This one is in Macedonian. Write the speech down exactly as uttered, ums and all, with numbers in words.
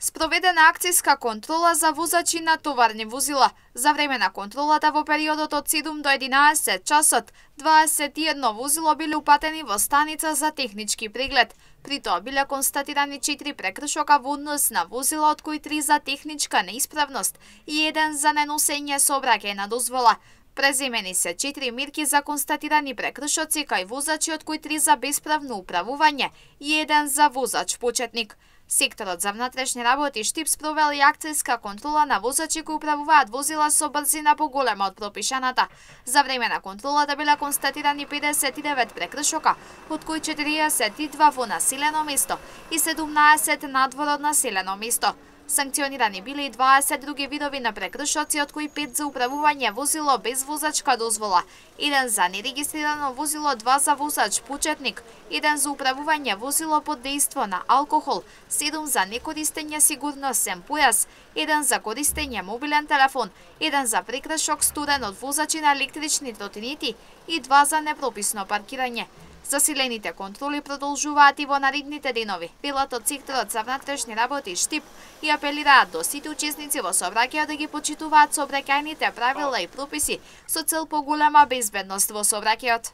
Спроведена акцијска контрола за возачи на товарни возила. За време на контролата во периодот од седум до единаесет часот, дваесет и едно возило биле упатени во станица за технички преглед. При тоа биле констатирани четири прекршока во однос на возила, од кои три за техничка неисправност и еден за неносење сообраќајна дозвола. Преземени се четири мерки за констатирани прекршоци кај возачи, од кои три за бесправно управување и еден за возач почетник. Секторот за внатрешни работи Штип спровел и акцијска контрола на возачи кои управуваат возила со брзина поголема од пропишаната. За време на контролата биле констатирани педесет и девет прекршока, од кои четириесет и два во населено место и седумнаесет надвор од населено место. Санкционирани биле и дваесет други видови на прекршоци, од кои пет за управување возило без возачка дозвола, еден за нерегистрирано возило, два за возач почетник, еден за управување возило под дејство на алкохол, седум за некористење сигурносен појас, еден за користење мобилен телефон, еден за прекршок сторен од возачи на електрични тротинети и два за непрописно паркирање. Засилените контроли продолжуваат и во наредните денови. Велат од секторот за внатрешни работи Штип и апелираат до сите учесници во сообраќајот да ги почитуваат сообраќајните правила и прописи со цел поголема безбедност во сообраќајот.